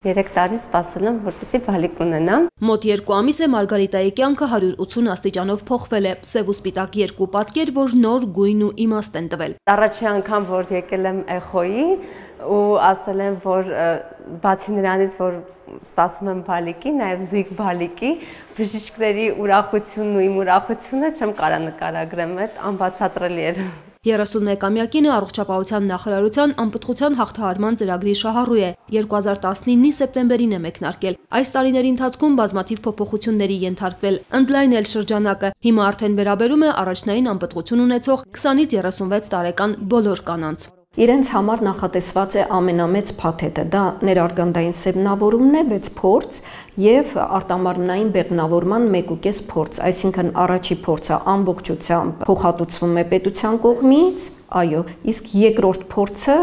3 տարի սպասել եմ, որպեսզի բալիկ ունենամ։ Մոտ 2 ամիս է Մարգարիտայի կյանքը 180 աստիճանով փոխվել է։ Սև ու սպիտակ երկու պատկեր, որ նոր գույն ու իմաստ են տվել։ Առաջի անգամ, որ եկել եմ Էխոյի ու ասել եմ, որ բացի նրանից, որ սպասում եմ բալիկի, նաև զույգ բալիկի, բժիշկների ուրախությունն ու իմ ուրախությունը չեմ կարա նկարագրեմ, այդ անբացատրելի էր։ 31-ամյակինը առողջապահության նախարարության անպտղության հաղթահարման ծրագրի շահառու է, 2019-ի սեպտեմբերին է մեկնարկել։ Այս տարիների ընթացքում բազմաթիվ փոփոխությունների ենթարկվել, ընդլայնել շրջանակը, հիմա արդեն վերաբերում է առաջնային անպտղություն ունեցող 20-ից 36 տարեկան բոլոր կանանց։ Իրենց համար նախատեսված է ամենամեծ փաթեթը, դա ներարգանդային սերմնավորումն է 6 փորձ եւ արտամարմնային բեղմնավորման 1.5 փորձ, այսինքն առաջի փորձը ամբողջությամբ փոխհատուցվում է պետության կողմից, այո, իսկ երկրորդ փորձը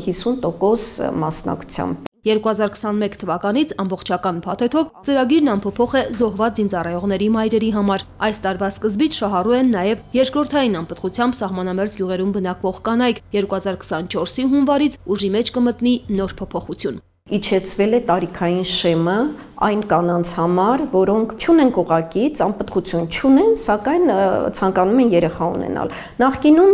50% մասնակցությամբ։ 2021 թվականից ամբողջական փաթեթով ծրագիրն անփոփոխ է զոհված զինծառայողների մայրերի համար։ Այս տարվա սկզբից շահառու են նաև երկրորդային անպտղությամբ սահմանամերձ գյուղերում բնակվող կանայք, 2024-ի հունվարից ուժի մեջ կմտնի նոր փոփոխություն։ Իջեցվել է տարիքային շեմը այն կանանց համար, որոնք չունեն կողակից, անպտղություն չունեն, սակայն ցանկանում են երեխա ունենալ։ Նախկինում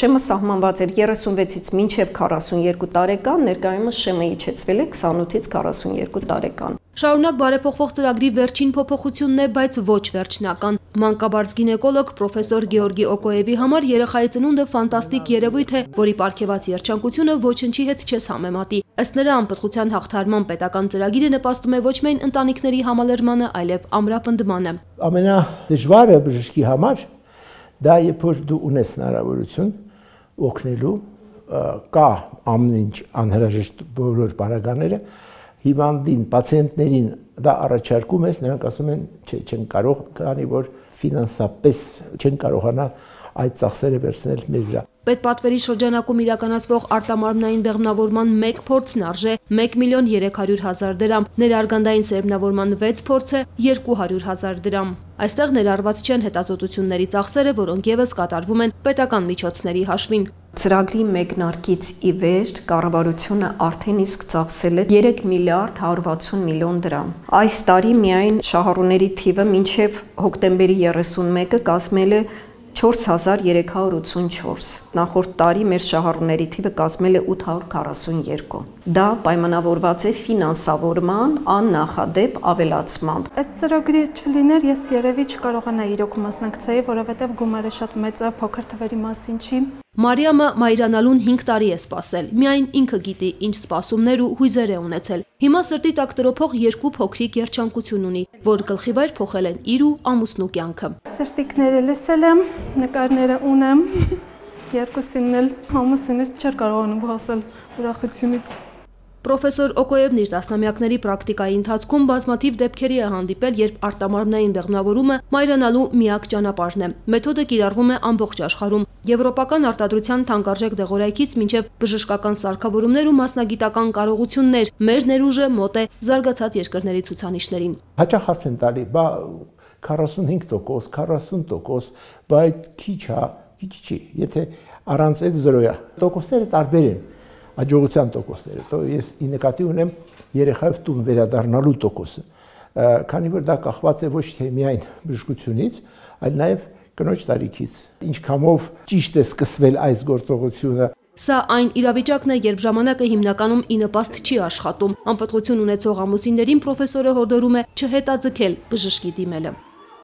շեմը սահմանված էր 36-ից մինչև 42 տարեկան, ներկայումս շեմը իջեցվել է 28-ից 42 տարեկան։ Շարունակ բարեփոխվող ծրագրի վերջին փոփոխությունն է, բայց ոչ վերջնական։ Մանկաբարձ գինեկոլոգ պրոֆեսոր Գեորգի Օկոևի համար երեխայի ծնունդը ֆանտաստիկ երևույթ է, որի պարգևած երջանկությունը ոչնչի հետ չես համեմատի։ Ըստ նրա անպտղության հաղթահարման պետական ծրագիրը նպաստում է ոչ միայն ընտանիքների համալրմանը, այլև ամրապնդմանը։ Ամենադժվարը բժշկի համար դա երբ որ դու ունես հնարավորություն օգնելու, կա ամեն ինչ անհրաժեշտ բոլոր պարագաները, հիվանդին, պացիենտներին դա առաջարկում ես, նրանք ասում են, չէ, չեն կարող, քանի որ ֆինանսապես չեն կարողանա այդ ծախսերը վերցնել մեր վրա։ Պետպատվերի շրջանակում իրականացվող արտամարմնային բեղմնավորման 1 փորձն արժե 1.3 միլիոն դրամ, ներարգանդային սերմնավորման 6 փորձը 200.000 դրամ։ Այստեղ ներառված չեն հետազոտությունների ծախսերը, որոնք ևս կատարվում են պետական միջոցների հաշվին։ Ծրագրի մեկնարկից ի վեր կառավարությունը արդեն իսկ ծախսել է 3 միլիարդ 160 միլիոն դրամ։ Այս տարի միայն շահառուների թիվը մինչև հոկտեմբերի 31-ը կազմել է 4384, նախորդ տարի մեր շահառուների թիվը կազմել է 842։ Դա պայմանավորված է ֆինանսավորման աննախադեպ ավելացմամբ։ Այս ծրագրի չլիներ, ես երևի չկարողանայի իրոք մասնակցեի, որովհետև գումարը շատ մեծ է, փոքր թվերի մասին չի։ Մարիամը մայրանալուն 5 տարի է սպասել, միայն ինքը գիտի ինչ սպասումներ ու հույզեր է ունեցել։ Հիմա սրտի տակ տրոփող 2 փոքրիկ երջանկություն ունի, որ գլխիվայր փոխել են իր ու ամուսնու կյանքը։ Սրտիկները լսել եմ, նկարները ունեմ, երկուսին էլ ամուսինս չէր կարողանում հոսել ուրախությունից։ Պրոֆեսոր Օկոևն իր տասնամյակների պրակտիկայի ընթացքում բազմաթիվ դեպքերի է հանդիպել, երբ արտամարմնային բեղմնավորումը մայրանալու միակ ճանապարհն է։ Մեթոդը կիրառվում է ամբողջ աշխարհում, եվրոպական արտադրության թանկարժեք դեղորայքից մինչև բժշկական սարքավորումներ ու մասնագիտական կարողություններ, մեր ներուժը մոտ է զարգացած երկրների ցուցանիշներին։ Հաճախ հարց են տալի, բա 45%, 40%, բա այդ քիչ է, քիչ չի, եթե առանց այդ զրո է։ Տոկոսները տարբեր են։ Աջողության տոկոսները, то ես ի նկատի ունեմ երեխայով տուն վերադառնալու տոկոսը, քանի որ դա կախված է ոչ թե միայն բժշկությունից, այլ նաև կնոջ տարիքից, ինչքանով ճիշտ է սկսվել այս գործողությունը։ Սա այն իրավիճակն է, երբ ժամանակը հիմնականում ի նպաստ չի աշխատում։ Անպտղություն ունեցող ամուսիններին պրոֆեսորը հորդորում է չհետաձգել բժշկի դիմելը։